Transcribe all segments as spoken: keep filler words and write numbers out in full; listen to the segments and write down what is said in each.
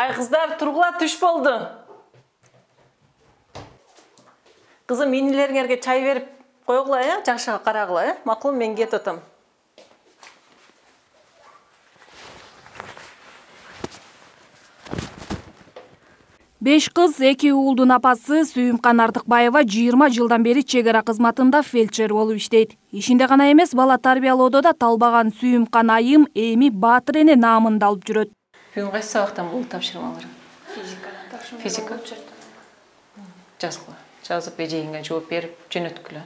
Ай кыздар, тургула түш болду. Кызым, инилериңерге чай берип койгула, э? Жакшы карагыла, э? Макул, мен кетип атам. Беш кыз, эки уулдун апасы Сүйүмкан Артыкбаева жыйырма жылдан бери чек ара кызматында фельдшер болуп иштейт. Ишинде гана эмес, бала тарбиялоодо да талбаган Сүйүмкан айым эми Баатыр эне наамын да алып жүрөт. Бүгүн кайсы сабактан болду тапшырмалар? Физика. Физика. Жазгыла. Жазып эжегиңе жооп берип жөнөткүлө.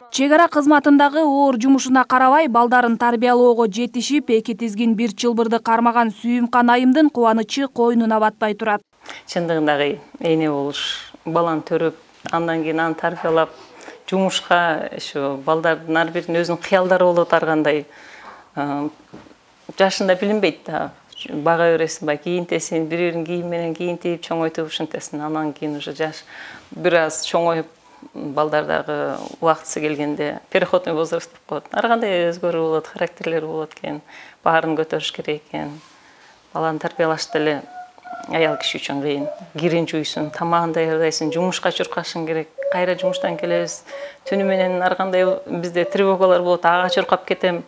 Чек ара кызматындагы оор жумушуна карабай, балдарын тарбиялоого жетишип, эки тизгин бир чылбырды кармаган Сүйүмкан айымдын кубанычы койнуна батпай турат. Чындыгында эне болуш, баланы төрөп, андан кийин аны тарбиялап, жумушка ошо балдардын ар биринин өзүнүн кыялдары болот ар кандай. Жашында билинбейт да. Бага бересиң, ба кийинтесиң, бири-бирин кийим менен кийинтип, чоңойтуп ушинтесиң. Андан кийин уже жаш бир аз чоңоюп, балдардагы убактысы келгенде переходный возраст деп коет. Ар кандай өзгөрүү болот, характерлери болот экен. Баарын көтөрүш керек экен. Баланы тарбиялаш деле аял киши үчүн кыйын. Кирин жуйсуң, тамагын даярдайсың, жумушка чуркашың керек. Кайра жумуштан келебиз. Түнү менен ар кандай бизде тревогалар болот, ага чуркап кетем.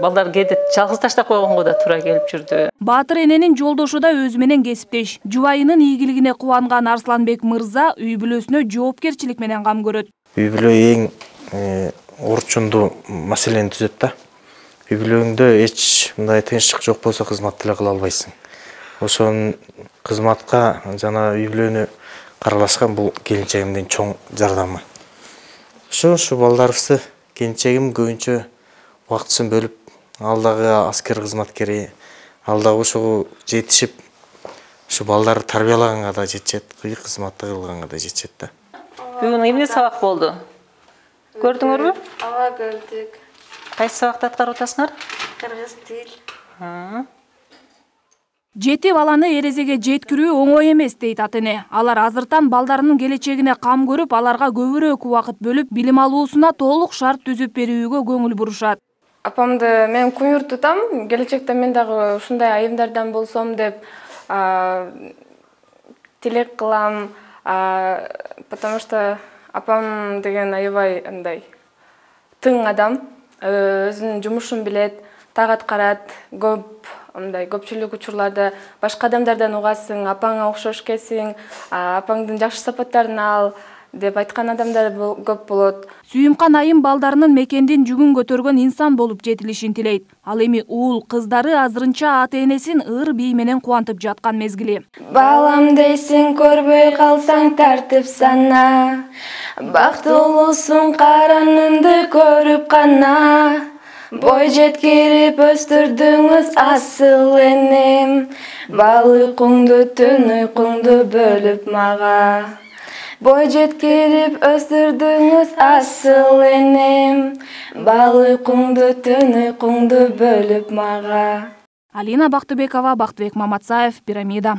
Балдар кээде жалгыз таштап койгонго да туура келип жүрдү. Баатыр эненин жолдошу да өзү менен кесиптеш. Жубайынын ийгилигине кубанган Арсланбек мырза үй бүлөсүнө жоопкерчилик менен кам көрөт. Үй бүлө эң орчундуу маселени түзөт да. Үй бүлөңдө эч мындай тынчтык жок болсо кызмат деле кыла албайсың. Ошон кызматка жана үй бүлөнү каралашкан бул келинчегимдин чоң жардамы. Ошо ушу балдарыбызды келинчегим көбүнчө убактысын бөлүп, алдагы аскер кызматкери, алдагы ошого жетишип, ушу балдарды тарбиялаганга да жетет, кыйык кызматты кылганга да жетет да. Бүгүн эмне сабак болду? Көрдүңөрбү? Ага, көрдүк. Кайсы сабакты аткарып атасыңар? Кыргыз тил. Жети баланы эрезеге жеткирүү оңой эмес дейт ата эне. Алар азыртан балдарынын келечегине кам көрүп, аларга көбүрөөк убакыт бөлүп, билим алуусуна толук шарт түзүп берүүгө көңүл бурушат. Апамды мен куюр тутам, келечекте мен дагы ушундай айымдардан болсом деп тилек кылам, потому что апам деген аябай андай тың адам, өзүнүн жумушун билет, так аткарат, көп андай көпчүлүк учурларда башка адамдардан угасың, апаңа окшош келсиң, апаңдын жакшы сапаттарын ал деп айткан адамдар көп болот. Сүйүмкан айым балдарынын мекендин жүгүн көтөргөн инсан болуп жетилишин тилейт. Ал эми уул кыздары азырынча ата энесин ыр бий менен кубантып жаткан мезгили. Балам дейсиң, көрбөй калсаң тартып сана, бактылуусуң каранымды көрүп кана. Бой жеткирип өстүрдүңүз асыл энем, бал уйкуңду түн уйкуңду бөлүп мага. Бой жеткирип өстүрдүңүз асыл энем, бал уйкуңду түн уйкуңду бөлүп мага. Алина Бактыбекова, Бактыбек Маматсаев, Пирамида.